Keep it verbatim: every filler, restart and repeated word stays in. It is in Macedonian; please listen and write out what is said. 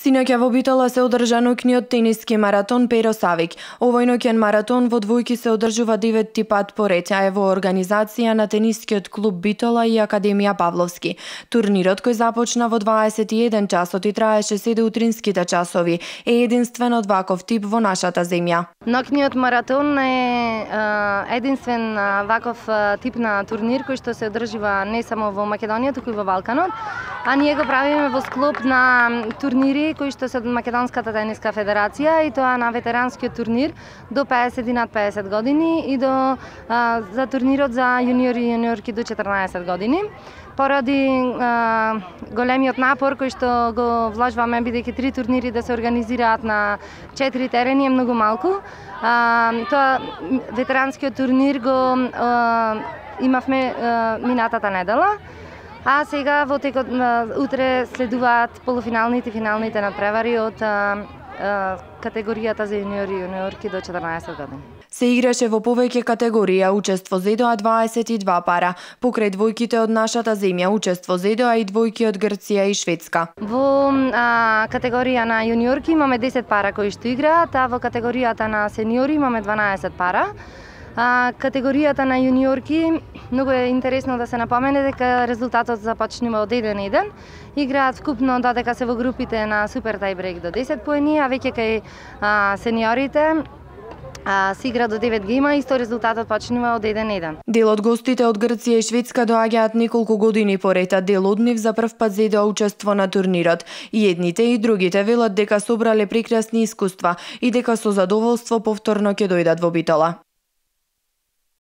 Синоќа во Битола се одржа ноќниот тениски маратон Перо Савик. Овој ноќен маратон во двојки се одржува деветти пат поред, а е во организација на тенискиот клуб Битола и Академија Павловски. Турнирот кој започна во дваесет и еден часот и траеше се до утринските часови е единствен од ваков тип во нашата земја. Ноќниот маратон е единствен ваков тип на турнир кој што се одржува не само во Македонија, туку и во Балканот, а ние го правиме во склоп на турнири кои што се од Македонската тениска федерација, и тоа на ветеранскиот турнир до педесет и над педесет години и до а, за турнирот за јуниори и јуниорки до четрнаесет години. Поради а, големиот напор кој што го вложуваме, бидејќи три турнири да се организираат на четири терени е многу малку. А, тоа ветеранскиот турнир го а, имавме а, минатата недела. А сега во текот на утре следуваат полуфиналните и финалните надпревари од а, а, категоријата за јуниори и јуниорки до четрнаесет години. Се играше во повеќе категорија, учество зедоа дваесет и два пара. Покрај двојките од нашата земја, учество зедоа и двојки од Грција и Шведска. Во а, категорија на јуниорки имаме десет пара кои што играат, а во категоријата на сениори имаме дванаесет пара. А, категоријата на јуниорки, многу е интересно да се напомене дека резултатот започнува од еден еден. Играат вкупно додека се во групите на супер тајбрейк до десет поени, а веќе кај а, сениорите а, се игра до девет гейма, исто резултатот почнува од еден еден. Дел од гостите од Грција и Шведска доаѓаат неколку години поред, а дел од нив за прв пат зедоа учество на турнирот. И едните и другите велат дека собрале прекрасни искуства и дека со задоволство повторно ќе дојдат во Битола.